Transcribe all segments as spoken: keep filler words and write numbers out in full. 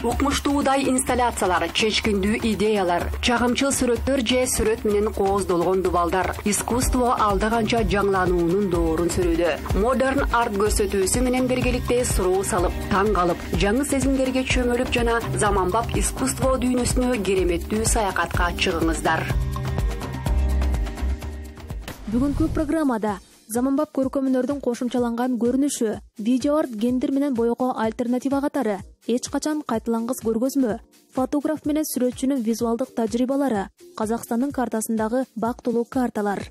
укмуштуудай инсталляциялар, чечкиндүү идеялар, чагымчыл сүрөттөр же сүрөт менен кооздолгон дубалдар искусство алда канча жаңылануунун доорун сүрүүдө. Модерн арт көрсөтүүсү менен биргеликте суроо салып, таң калып, жаңы сезимдерге чөмүлүп жана заманбап искусство дүйнөсүнө кереметтүү саякатка чыгыңыздар. Бүгүнкү программада заманбап көркөм өнөрдүн кошумчаланган көрүнүшү, видео арт гендер менен боёго альтернатива катары, эч качан кайталангыс көргөзмө, фотограф менен сүрөтчүнүн визуалдык тажрыйбалары, Казакстандын картасындагы бактылуу карталар.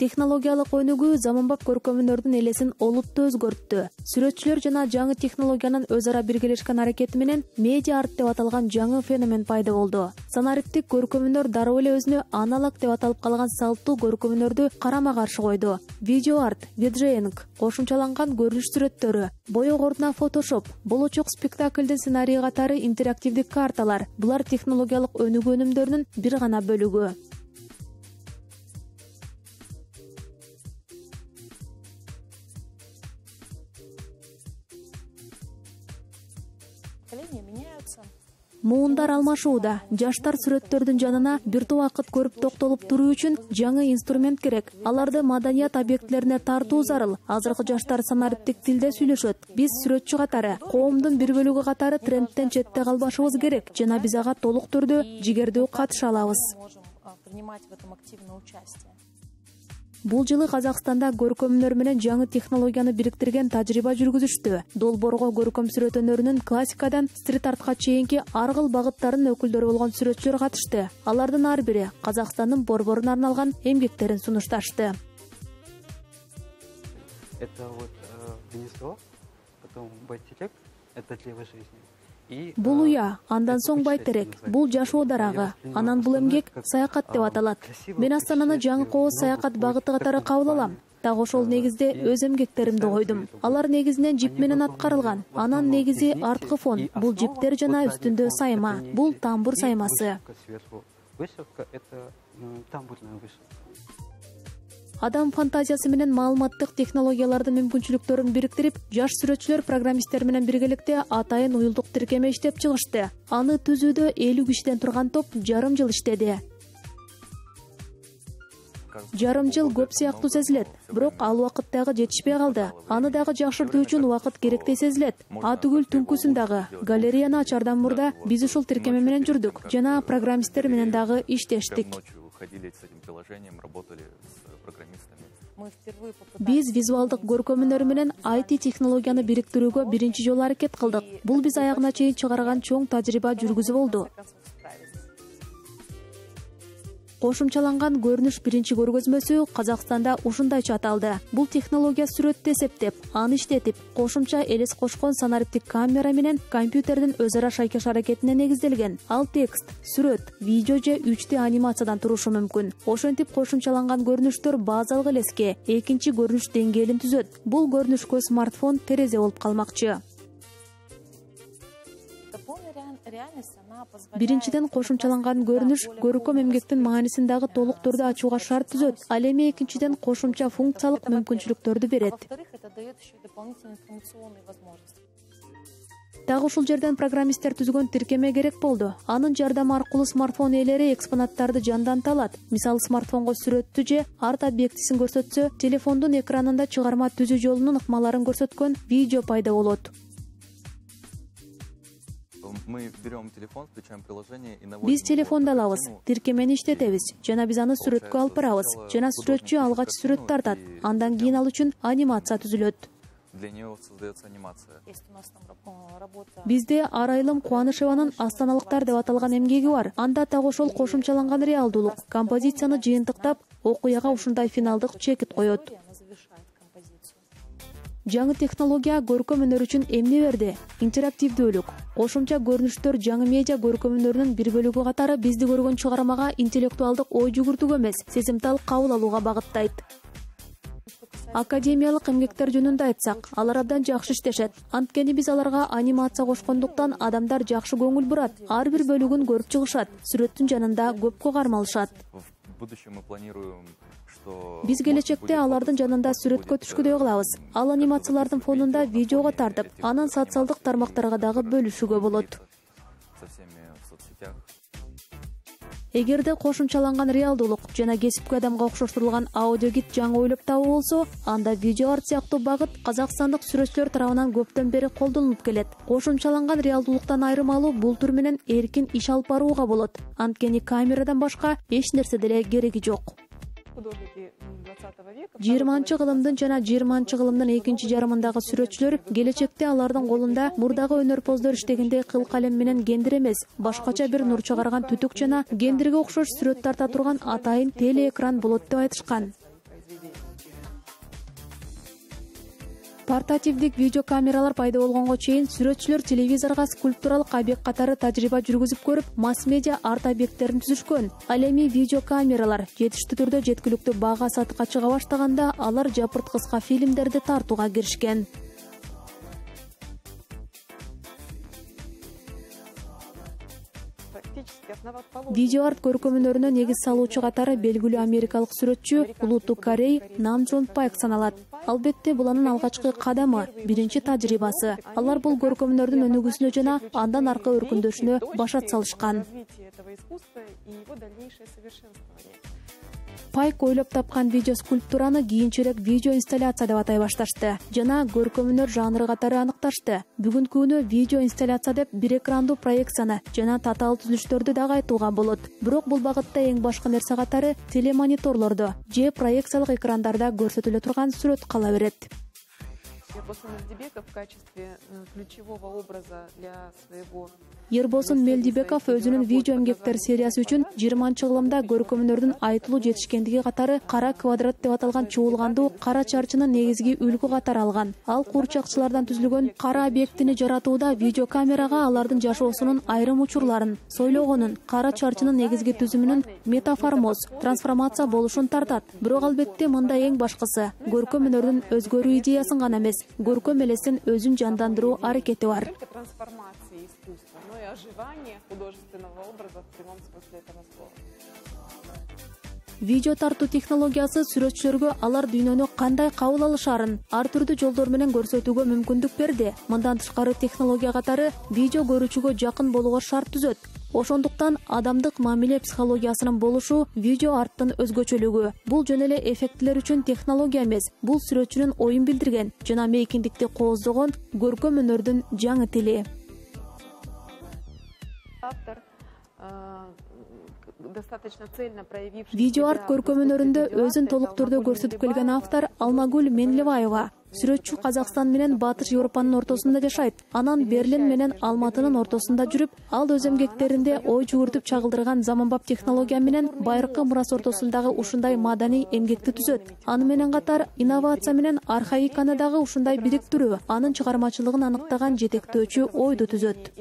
Технологиялык өнүгүү заманбап көркөм өнөрдүн элесин олуттуу өзгөрттү. Сүрөтчүлөр жана жаңы технологиянын өз ара биргелешкен аракети менен медиа арт деп аталган жаңы феномен пайда болду. Санариптик көркөм өнөр дароо эле өзүнө аналог деп аталып калган салттуу көркөм өнөрдү карама каршы койду. Видео арт, виджейинг, кошумчаланган көрүнүш сүрөттөрү, боёк ордуна фотошоп, болочок спектакльдин сценарийи катары интерактивдик карталар — булар технологиялык өнүгүү өнүмдөрүнүн бир гана бөлүгү. Муундар алмашууда. Жаштар сүрөттөрдүн жанына бир топ убакыт көрүп токтолуп туруу үчүн жаңы инструмент керек. Аларды маданият объектилерине тартуу зарыл. Азыркы жаштар санариптик тилде сүйлөшөт. Биз сүрөтчү катары, коомдун бир бөлүгү катары трендтен четте калбашыбыз керек жана биз ага толук түрдө жигердүү катыша алабыз. Бул жылы Казакстанда көркөм өнөр менен жаңы технологияны бириктирген тажрыйба жүргүзүштү. Долбоорго көркөм сүрөт өнөрүнүн классикадан стрит артка чейинки ар кыл багыттарынын өкүлдөрү болгон сүрөтчүлөр катышты. Алардын ар бири Казакстандын борборуна арналган эмгектерин сунушташты. Это вот гнездо, потом байтерек, это древо жизни. Бул уя, андан соң байтерек, бул жашоо дарагы, анан бул эмгек саякат деп аталат. Мен Астананы жаңы кооз саякат багыты катары кабыл алам. Так ошол негизде өз эмгектеримди койдум. Алар негизинен жип менен аткарылган. Анан негизи арткы фон, бул жиптер жана үстүндө сайма, бул тамбур саймасы. Адам фантазиясы менен маалыматтык технологиялардын мүмкүнчүлүктөрүн бириктирип, жаш сүрөтчүлөр программисттер менен биргеликте атайын уюлдук тиркеме иштеп чыгышты. Аны түзүүдө элүү кишиден турган топ жарым жыл иштеди. Жарым жыл көп сыяктуу сезилет, бирок ал убакыт дагы жетишпей калды. Аны дагы жакшыртуу үчүн убакыт керектей сезилет. Атүгүл түнкүсүн дагы галереяны ачардан мурда биз ушул тиркеме менен жүрдүк жана программисттер менен дагы иштештик. Биз визуалдык көркөм өнөр менен ай ти технологияны бириктирүүгө биринчи жолу аракет кылдык. Бул биз аягына чейин чыгарган чоң тажрыйба жүргүзүү болду. Кошумчаланган көрүнүш биринчи көргөзмөсү Казакстанда ушундайча аталды. Бул технология сүрөттү эсептеп, аны иштетип, кошумча элес кошкон санариптик камера менен компьютердин өз ара шайкаш аракетине негизделген. Ал текст, сүрөт, видео же үч дэ анимациядан турушу мүмкүн. Ошентип кошумчаланган көрүнүштөр базалык элеске экинчи көрүнүш деңгээлин түзөт. Бул көрүнүшкө смартфон терезе болуп калмакчы. Биринчиден кошумчаланган көрүнүш көркөм эмгектин маанисин дагы толук түрдө ачууга шарт түзөт. Ал эми экинчиден кошумча функциялык мүмкүнчүлүктөрдү берет. Так ушул жерден программисттер түзгөн тиркеме керек болду. Анын жардамы аркылуу смартфон ээлери экспонаттарды жанданта алат. Мисалы, смартфонго сүрөттү же арт объектисин көрсөтсө, телефондун экранында чыгарма түзүү жолунун ыкмаларын көрсөткөн видео пайда болот. Биз телефонду алабыз, тиркемени иштетебиз жана биз аны сүрөткө алып барабыз жана сүрөтчү алгач сүрөт тартат. Андан кийин ал үчүн анимация түзүлөт. Бизде Арайлым Кубанышеванын Астаналыктар деп аталган эмгеги бар. Анда так ошол кошумчаланган реалдуулук композицияны жыйынтыктап, окуяга ушундай финалдык чекит коет. Жаңы технология көркөм өнөр үчүн эмне берди? Интерактивдүүлүк. Кошумча көрүнүштөр жаңы медиа көркөм өнөрүнүн бир бөлүгү катары бизди көргөн чыгармага интеллектуалдык ой жүгүртүүгө эмес, сезимтал кабыл алууга багыттайт. Академиялык эмгектер жөнүндө айтсак, алар абдан жакшы иштешет. Анткени биз аларга анимация кошкондуктан адамдар жакшы көңүл бурат. Ар бир бөлүгүн көрүп чыгышат. Сүрөттүн жанында көпкө кармалышат. Биз келечекте алардын жанында сүрөткө түшкүдөй кылабыз. Ал анимациялардын фонунда видеого тартып, анан социалдык тармактарга дагы бөлүшүүгө болот. Эгерде кошумчаланган реалдуулук жана кесипки адамга окшоштурулган аудиогид жаңы ойлоп табуу болсо, анда видео арт сыяктуу багыт казакстандык сүрөтчүлөр тарабынан көптөн бери колдонулуп келет. Кошумчаланган реалдуулуктан айырмалуу бул түр менен эркин иш алып барууга болот. Анткени камерадан башка эч нерсе деле кереги жок. жыйырманчы кылымдын жана жыйырманчы кылымдын экинчи жарымындагы сүрөтчүлөр келечекте алардын колунда мурдагы өнөрпоздор иштегендей кыл калем менен кендир эмес, башкача бир нур чыгарган түтүк жана кендирге окшош сүрөт тарта турган атайын телеэкран болот деп айтышкан. Портативдик видео камералар пайда болгонго чейин сүрөтчүлөр телевизорго скульптуралык объект катары тажрыйба жүргүзүп көрүп, масс-медиа арт объекттерин түзүшкөн. Ал эми видео камералар жетиштүү түрдө жеткиликтүү баага сатыкка чыга баштаганда, алар жапырт кыска фильмдерди тартууга киришкен. Видео арт көркөмүнөрүнө негиз салуучу катары белгилүү америкалык сүрөтчү Улуттук Корей Нам Джон Пайк саналат. Албетте бул анын алгачкы кадамы, биринчи тажрыйбасы. Алар бул көркөмүнөрдүн өнүгүүсүнө жана андан аркы өркүндөшүнө башат салышкан. Пайк ойлоп тапкан видео скульптураны кийинчерээк видео инсталляция деп атай башташты жана көркөмүнөр жанры катары аныкташты. Бүгүнкү күнү видео инсталляция деп бир экрандуу проекцияны жана татаал түзүлүштөрдү дагы айтууга болот. Бирок бул багытта эң башкы нерсе катары телемониторлордо же проекциялык экрандарда көрсөтүлө турган сүрөт кала берет. Ербосын Мелдибеков өзүнүн видео эмгектер сериясы үчүн жыйырманчы кылымда көркөмүнөрдүн айтылуу жетишкендиги катары кара квадрат деп аталган чуулгандуу кара чарчынын негизги үлгү катары алган. Ал куурчакчылардан түзүлгөн кара объектини жаратууда видео камерага алардын жашоосунун айрым учурларын, сойлогонун, кара чарчынын негизги түзүмүнүн метаформоз, трансформация болушун тартат. Бирок албетте мында эң башкысы көркөмүнөрдүн өзгөрүү идеясын гана эмес, көркөм элестин өзүн жандандыруу аракети бар. Видео тартуу технологиясы сүрөтчүлөргө алар дүйнөнү кандай кабыл алышарын ар түрдүү жолдор менен көрсөтүүгө мүмкүндүк берди. Мындан тышкары технология катары видео көрүүчүгө жакын болууга шарт түзөт. Ошондуктан адамдык мамиле психологиясынын болушу видео арттын өзгөчөлүгү. Бул жөн эле эффектилер үчүн технология эмес, бул сүрөтчүнүн оюн билдирген жана мейкиндикти кооздогон көркөм өнөрдүн жаңы тили. Видео арт көркөм өнөрүндө өзүн толук түрдө көрсөтүп келген автор Алмагүл Менлебаева. Сүрөтчү Казакстан менен Батыш Европанын ортосунда жашайт. Анан Берлин менен Алматынын ортосунда жүрүп, ал өз эмгектеринде ой жүгүртүп чагылдырган заманбап технология менен байыркы мурас ортосундагы ушундай маданий эмгекти түзөт. Аны менен катар инновация менен архаиканы дагы ушундай бириктирүү, анын чыгармачылыгын аныктаган жетектөөчү ойду түзөт.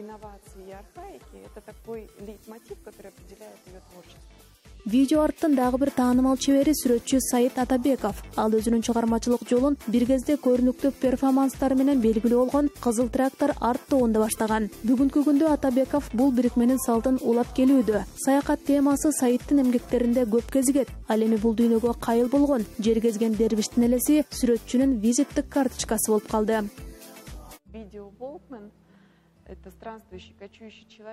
Видео арттын дагы бир таанымал чебери сүрөтчү Саид Атабеков. Ал өзүнүн чыгармачылык жолун бир кезде көрүнүктүү перформанстары менен белгилүү болгон Кызыл трактор арт тобунда баштаган. Бүгүнкү күндө Атабеков бул бирикменин салтын улап келүүдө. Саякат темасы Саидтин эмгектеринде көп кезигет. Ал эми бул дүйнөгө кайыл болгон жер кезген дервиштин элеси сүрөтчүнүн визиттик карточкасы болуп калды.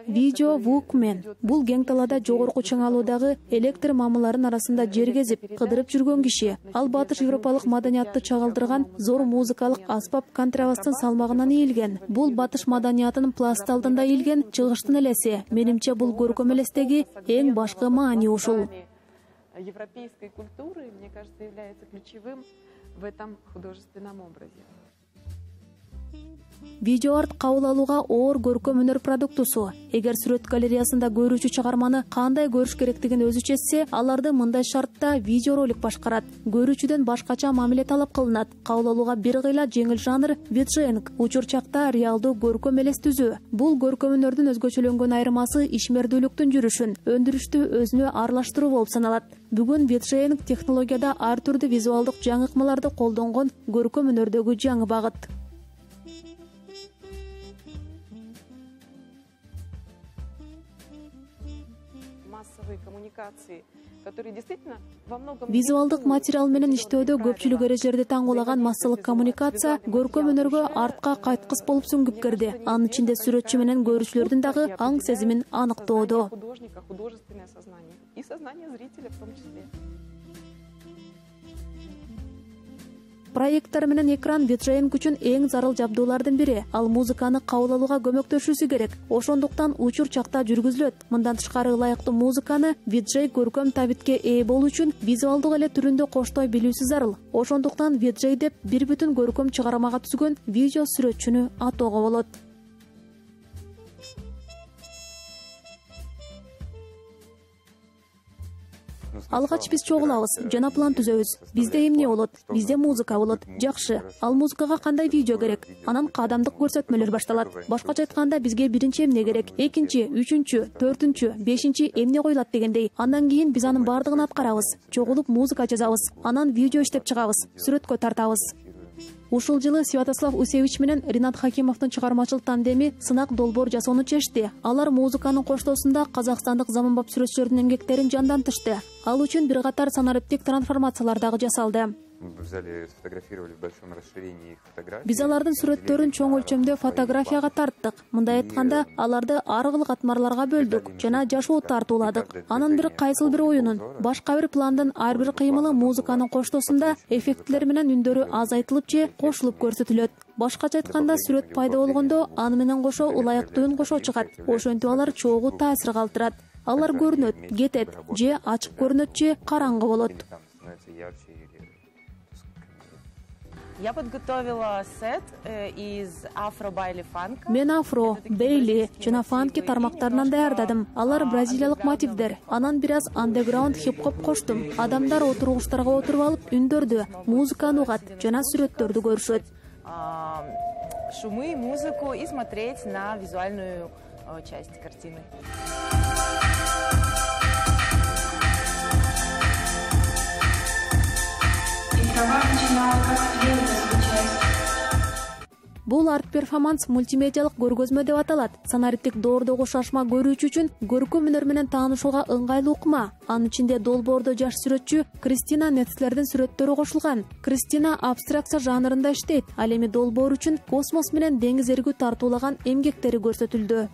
Видео Walkman бул кең талаада жогорку чыңалуудагы электр мамыларын арасында жер кезип, кыдырып жүргөн киши. Ал батыш европалык маданиятты чагылдырган зор музыкалык аспап контрабастын салмагынан ийилген. Бул батыш маданиятынын пласты алдында ийилген чыгыштын элеси. Менимче бул көркөм элестеги эң башкы маани ушул. Европейской культуры, мне кажется, является ключевым в этом художественном образе. Видео арт кабыл алууга оор көркөм өнөр продуктусу. Эгер сүрөт галереясында көрүүчү чыгарманы кандай көрүш керектигин өзү чечсе, аларды мындай шартта видеоролик башкарат. Көрүүчүдөн башкача мамиле талап кылынат. Кабыл алууга бир кыйла жеңил жанр виджейнг, учурчакта реалдуу көркөм элес түзүү. Бул көркөм өнөрдүн өзгөчөлөнгөн айырмасы ишмердүүлүктүн жүрүшүн, өндүрүштү өзүнө аралаштыруу болуп саналат. Бүгүн виджейнг технологияда ар түрдүү визуалдык жаңы ыкмаларды колдонгон көркөм өнөрдөгү жаңы багыт. Визуалдык материал менен иштөөдө көпчүлүк эрежелерди таңгуулаган массалык коммуникация көркөм өнөргө артка кайткыс болуп сүңгүп кирди. Анын ичинде сүрөтчү менен көрүүчүлөрдүн дагы аң сезимин аныктоодо. Проекттор менен экран виджейинг үчүн эң зарыл жабдуулардын бири. Ал музыканы кабыл алууга көмөктөшүүсү керек. Ошондуктан учур чакта жүргүзүлөт. Мындан тышкары ылайыктуу музыканы виджей көркөм табитке ээ болуу үчүн визуалдык эле түрүндө коштой билүүсү зарыл. Ошондуктан виджей деп бир бүтүн көркөм чыгармага түзгөн видео сүрөтчүнү атоого болот. Алгач биз чогулабыз, жана план түзөбүз. Бизде эмне болот? Бизде музыка болот. Жакшы. Ал музыкага кандай видео керек? Анан кадамдык көрсөтмөлөр башталат. Башкача айтканда бизге биринчи эмне керек? Экинчи, үчүнчү, төртүнчү, бешинчи эмне коюлат дегендей. Андан кийин биз анын бардыгын аткарабыз. Чогулуп музыка жазабыз. Анан видео иштеп чыгабыз. Сүрөткө тартабыз. Ушул жылы Святослав Усевич менен Ринат Хакимовдун чыгармачыл тандеми сынак долбоор жасоону чечти. Алар музыканын коштоосунда казакстандык заманбап сүрөтчүлөрдүн эмгектерин жандантышты. Ал үчүн бир катар санариптик трансформациялар дагы жасалды. Биз алардын сүрөттөрүн чоң өлчөмдө фотографияга тарттык. Мындай айтканда, аларды ар кыл катмарларга бөлдүк жана жашоо тартууладык. Анын бир кайсыл бир оюнун, башка бир пландын ар бир кыймылы музыканын коштоосунда эффектилер менен үндөрү азайтылып же кошулуп көрсөтүлөт. Башкача айтканда, сүрөт пайда болгондо аны менен кошо ылайыктуу үн кошо чыгат. Ошентип алар чогуу таасир калтырат. Алар көрүнөт, кетет, же ачык көрүнөт, же караңгы болот. Я подготовила сет из афро, байли, фанка. Мен афро, бейли жана фанки тармактарынан даярдадым. Алар бразилиялык мотивдер. Анан бир аз андеграунд хип-хоп коштум. Адамдар отургучтарга отуруп алып үндөрдү, музыканы угат жана сүрөттөрдү көрүшөт. Шумы, музыку и смотреть на визуальную часть картины. Бул арт-перформанс мультимедиалык көргөзмө деп аталат. Санариптик доордогу шашма көрүүчү үчүн көркөм өнөр менен таанышууга ыңгайлуу ыкма. Анын ичинде долбоордо жаш сүрөтчү Кристина Нецлердин сүрөттөрү кошулган. Кристина абстракция жанрында иштейт. Ал эми долбоор үчүн космос менен деңиз эргүү тартуулаган эмгектери көрсөтүлдү.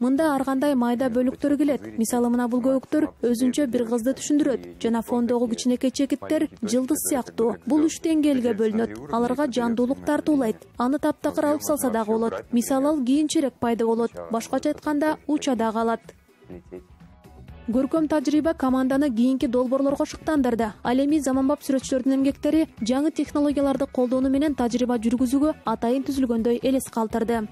Мында ар кандай майда бөлүктөр келет. Мисалы, мына бул көбүктөр өзүнчө бир кызды түшүндүрөт жана фондогу кичинекей чекиттер жылдыз сыяктуу. Бул үч деңгээлге бөлүнөт. Аларга жандуулук тартуулайт. Аны таптакыр алып салса дагы болот. Мисалы, ал кийинчерээк пайда болот. Башкача айтканда, уча да калат. Көркөм тажрыйба команданы кийинки долбоорлорго шыктандырды. Ал эми заманбап сүрөтчүлөрдүн эмгектери жаңы технологияларды колдонуу менен тажрыйба жүргүзүүгө атайын түзүлгөндөй элес калтырды.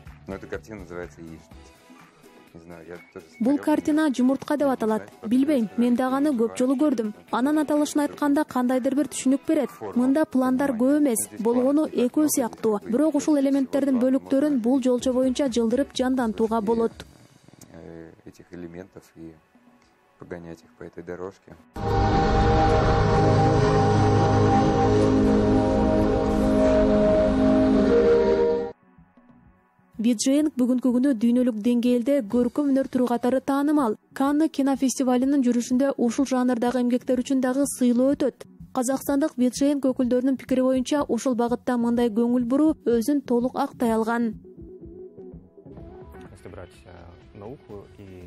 Бул картина жумуртка деп аталат. Билбейм, мен дагы аны көп жолу көрдүм. Анын аталышын айтканда кандайдыр бир түшүнүк берет. Мында пландар көп эмес, болгону экөө сыяктуу. Бирок ушул элементтердин бөлүктөрүн бул жолчо боюнча жылдырып жандантууга болот. Этих элементов и погонять их по этой дорожке. Виджейинг бүгүнкү күнү дүйнөлүк деңгээлде көркөм өнөр түрү катары таанымал. Канны кинофестивалынын жүрүшүндө ушул жанрдагы эмгектер үчүн дагы сыйлоо өтөт. Казакстандык виджейинг өкүлдөрүнүн пикири боюнча ушул багытта мындай көңүл буруу өзүн толук актай алган.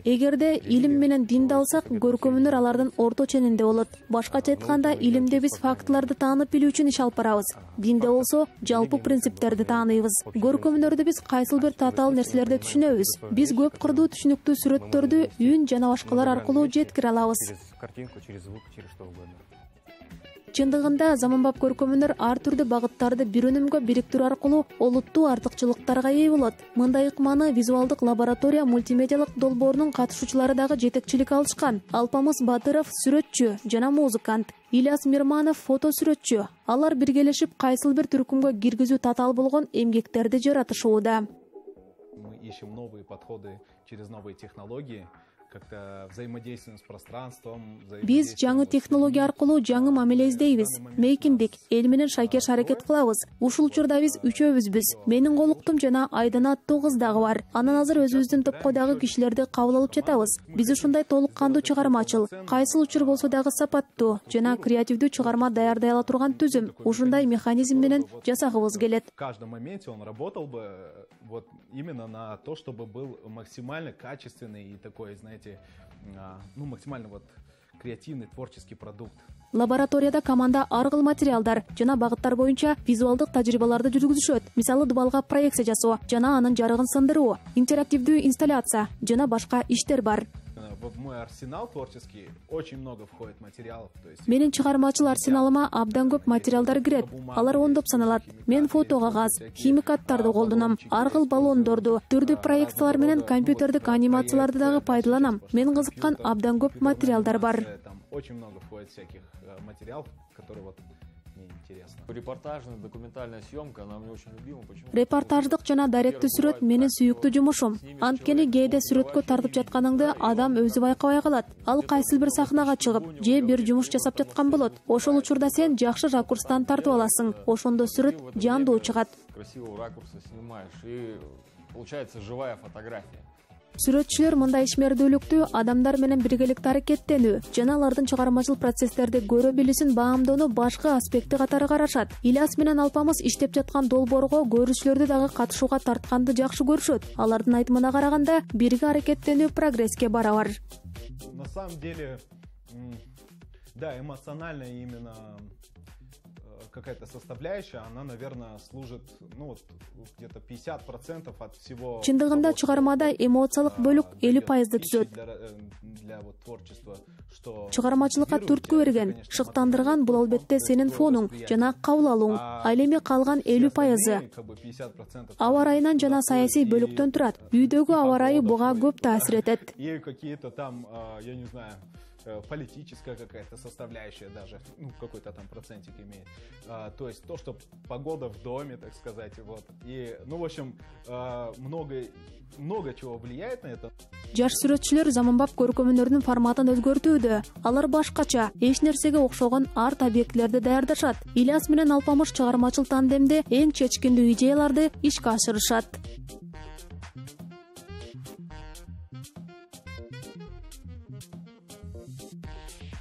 Эгерде илим менен динди алсак, көркөм өнөр алардын орто ченинде болот. Башкача айтканда, илимде биз фактыларды таанып билүү үчүн иш алып барабыз. Динде болсо, жалпы принциптерди тааныйбыз. Көркөм өнөрдө биз кайсыл бир татаал нерселерди түшүнөбүз. Биз көп кырдуу түшүнүктүү сүрөттөрдү үн жана башкалар аркылуу жеткире алабыз. Чындыгында заманбап көркөм өнөр ар түрдүү багыттарды бир өнүмгө бириктирүү аркылуу олуттуу артыкчылыктарга ээ болот. Мындай ыкманы визуалдык лаборатория мультимедиалык долбоорунун катышуучулары дагы жетекчилик алышкан. Алпамыс Батыров сюрөтчү жана музыкант, Ильяс Мирманов фото сүрөтчү. Алар биргелешип кайсыл бир түркүмгө киргизүү татаал болгон эмгектерди жаратышууда. Мы ищем новые подходы через новые технологии. как-то взаимодействуем с пространством. Биз жаңы технология аркылуу жаңы мамиле издейбиз. Мейкиндик, эл менен шайкеш аракет кылабыз. Ушул учурда биз үчөөбүзбүз. Менин колуктум жана Айдана аттуу кыз дагы бар. Анан азыр өзүбүздүн топкойдагы кишилерди кабыл алып жатабыз. Биз ушундай толук кандуу чыгармачыл, кайсыл учур болсо дагы сапаттуу жана креативдүү чыгарма даярдай ала турган түзүм. Ушундай механизм менен жасагыбыз келет. В каждом моменте он работал бы вот именно на то, чтобы был максимально качественный и такой, знаете, ну максимально вот креативный творческий продукт. Лабораторияда команда ар кыл материалдар жана багыттар боюнча визуалдык тажрыйбаларды жүргүзүшөт. Мисалы дубалга проекция жасоо жана анын жарыгын сындыруу, интерактивдүү инсталляция жана башка иштер бар. В мой арсенал творческий очень много входит материалов, то есть Менин чыгармачыл арсеналыма абдан көп материалдар кирет. Алар ондоп саналат. Мен фото кагаз, химикаттарды колдоном, ар кыл баллондорду, түрдүү проекциялар менен компьютердик анимацияларды дагы пайдаланам. Мен кызыккан абдан көп материалдар бар. Там очень много входит всяких материалов, которые вот мне интересно. Репортажная, документальная съемка, она мне очень любима. Почему? Репортаждык жана даректүү сүрөт менин сүйүктүү жумушум. Анткени кээде сүрөткө тартып жатканыңды адам өзү байкабай калат. Ал кайсыл бир сахнага чыгып, же бир жумуш жасап жаткан болот. Ошол учурда сен жакшы ракурстан тартып аласың. Ошондо сүрөт жандуу чыгат. Красивого ракурса снимаешь, и получается живая фотография. Сүрөтчүлөр мындай ишмердүүлүктү адамдар менен биргеликте аракеттенүү жана алардын чыгармачыл процесстерди көрө билүүсүн баамдоону башкы аспекти катары карашат. Ильяс менен Алпамыс иштеп жаткан долбоорго көрүүчүлөрдү дагы катышууга тартканды жакшы көрүшөт. Алардын айтымына караганда, бирге аракеттенүү прогресске барабар. На самом деле, да, эмоционально именно какая-то составляющая, она, наверное, служит, ну вот где-то пятьдесят процентов от всего. Чындыгында чыгармада эмоциялык бөлүк элүү пайызды түзөт. Для вот творчества, что чыгармачылыкка түрткү берген, шыктандырган бул албетте сенин фонуң жана кабыл алууң. Ал эми калган элүү пайызы аба ырайынан жана саясий бөлүктөн турат. Үйдөгү аба ырайы буга көп таасир этет. И какие-то там, я не знаю, политическая какая-то составляющая даже, ну, какой-то там процентик имеет. А, то есть то, что погода в доме, так сказать, вот. И, ну, в общем, а, много, много чего влияет на это. Жаш сүрөтчүлөр заманбап көркөмөнөрдүн форматын өзгөртүүдө. Алар башкача, эч нерсеге окшогон арт объектилерди даярдашат. Ильяс менен Алпамыш чыгармачыл тандемде эң чечкиндүү идеяларды ишке ашырышат.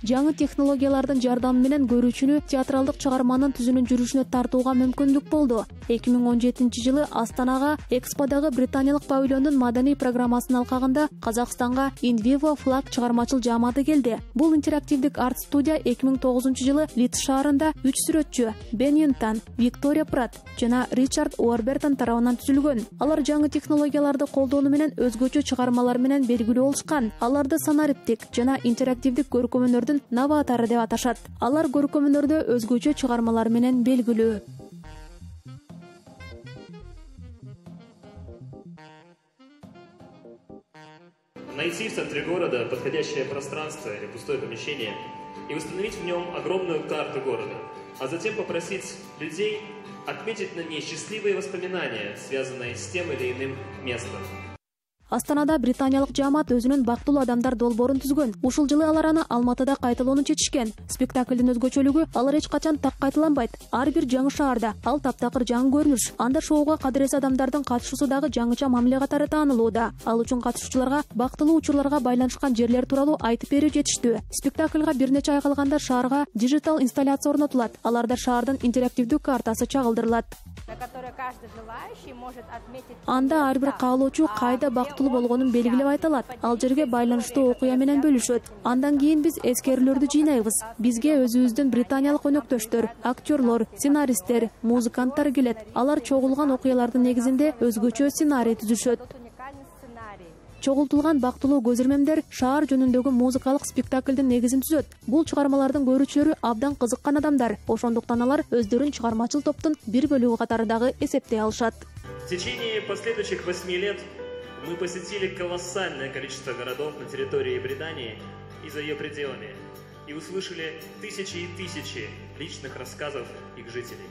Жаңы технологиялардын жардамы менен көрүүчүнү театралдык чыгарманын түзүүнүн жүрүшүнө тартууга мүмкүндүк болду. эки миң он жетинчи жылы Астанага Эксподагы британиялык павильондун маданий программасынын алкагында Казакстанга In Vivo Flag чыгармачыл жааматы келди. Бул интерактивдик арт студия эки миң тогузунчу жылы Лидс шаарында үч сүрөтчү Бен Юнтан, Виктория Прат жана Ричард Уорбертон тарабынан түзүлгөн. Алар жаңы технологияларды колдонуу менен өзгөчө чыгармалар менен белгилүү болушкан. Аларды санариптик жана интерактивдик көркөмөнөрдүн новатору деп аташат. Алар көркөмөнөрдө өзгөчө чыгармалар менен белгилүү. Найти в центре города подходящее пространство или пустое помещение и установить в нем огромную карту города, а затем попросить людей отметить на ней счастливые воспоминания, связанные с тем или иным местом. Астанада британиялык жаамат өзүнүн бактылуу адамдар долбоорун түзгөн. Ушул жылы алар аны Алматыда кайталоону чечишкен. Спектаклдин өзгөчөлүгү алар эч качан так кайталанбайт. Ар бир жаңы шаарда ал таптакыр жаңы көрүнүш. Анда шоуга кадырес адамдардын катышуусу дагы жаңыча мамиле катары таанылууда. Ал үчүн катышуучуларга бактылуу учурларга байланышкан жерлер тууралуу айтып берүү жетиштүү. Спектаклга бир нече ай калганда шаарга дижитал инсталляция орнотулат. Аларда шаардын интерактивдүү картасы чагылдырылат. Анда ар бир каалоочу кайда бактылуу болгонун белгилеп айта алат. Ал жерге байланыштуу окуя менен бөлүшөт. Андан кийин биз эскерүүлөрдү жыйнайбыз. Бизге өзүбүздүн британиялык өнөктөштөр, актерлор, сценаристтер, музыканттар келет. Алар чогулган окуялардын негизинде өзгөчө сценарий түзүшөт. Чогултулган бактылуу көзөрмөмдөр шаар жөнүндөгү музыкалык спектаклдин негизин түзөт. Бул чыгармалардын көрүүчүлөрү абдан кызыккан адамдар. Ошондуктан алар өздөрүн чыгармачыл топтун бир бөлүгү катары дагы эсептей алышат. В течение последующих восьми лет мы посетили колоссальное количество городов на территории Британии и за ее пределами и услышали тысячи и тысячи личных рассказов их жителей.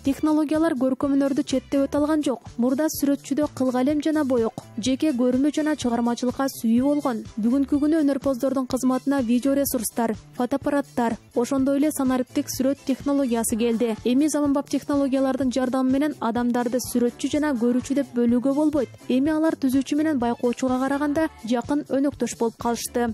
Технологиялар көркөм өнөрдү четтеп өтө алган жок. Мурда сүрөтчүдө кылгалем жана боек, жеке көрүнүү жана чыгармачылыкка сүйүү болгон. Бүгүнкү күнү өнөрпоздордун кызматына видео ресурстар, фотоаппараттар, ошондой эле санариптик сүрөт технологиясы келди. Эми заманбап технологиялардын жардамы менен адамдарды сүрөтчү жана көрүүчү деп бөлүүгө болбойт. Эми алар түзүүчү менен байкоочуга караганда жакын өнөктөш болуп калышты.